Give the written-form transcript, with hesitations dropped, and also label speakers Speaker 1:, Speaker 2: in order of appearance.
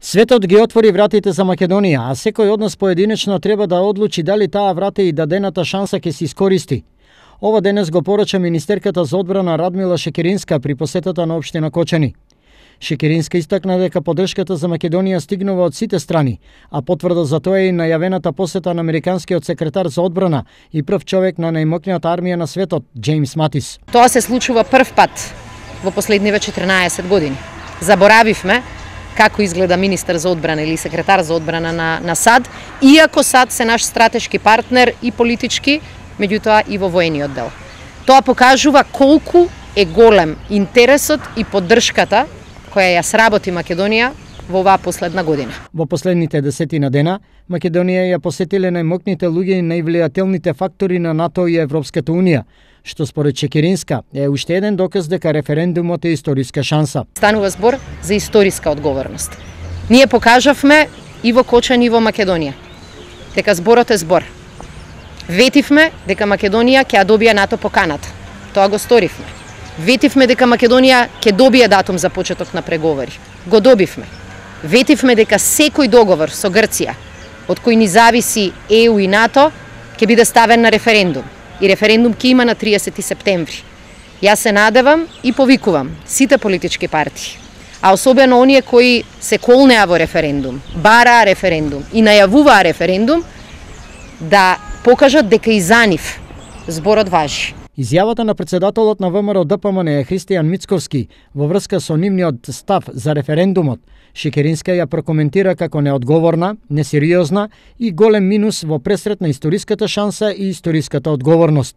Speaker 1: Светот ги отвори вратите за Македонија, а секој од нас поединечно треба да одлучи дали таа врата и дадената шанса ќе се искористи. Ова денес го порача министерката за одбрана Радмила Шекеринска при посетата на општина Кочани. Шекеринска истакна дека поддршката за Македонија стигнува од сите страни, а потврда за тоа е и најавената посета на американскиот секретар за одбрана и прв човек на најмоќната армија на светот, Джеймс Матис.
Speaker 2: Тоа се случува прв пат во последниве 14 години. Заборавивме како изгледа министар за одбрана или секретар за одбрана на САД, иако САД се наш стратешки партнер и политички, меѓутоа и во воениот дел. Тоа покажува колку е голем интересот и поддршката која ја сработи Македонија во оваа последна година.
Speaker 1: Во последните 10 дена, Македонија ја посетиле најмокните луѓе и највлијателните фактори на НАТО и Европската Унија, што според Шекеринска е уште еден доказ дека референдумот е историска шанса.
Speaker 2: Станува збор за историска одговорност. Ние покажавме и во Кочани и во Македонија дека зборот е збор. Ветивме дека Македонија ќе ја добие НАТО поканата. Тоа го сторивме. Ветивме дека Македонија ќе добие датум за почеток на преговори. Го добивме. Ветивме дека секој договор со Грција, од кој ни зависи ЕУ и НАТО, ќе биде ставен на референдум. И референдум ќе има на 30 септември. Јас се надевам и повикувам сите политички партии, а особено оние кои се колнеа во референдум, бараа референдум и најавуваа референдум, да покажат дека и за нив зборот важи.
Speaker 1: Изјавата на председателот на ВМРО ДПМН Христијан Мицковски во врска со нивниот став за референдумот, Шекеринска ја прокоментира како неодговорна, несериозна и голем минус во пресрет на историската шанса и историската одговорност.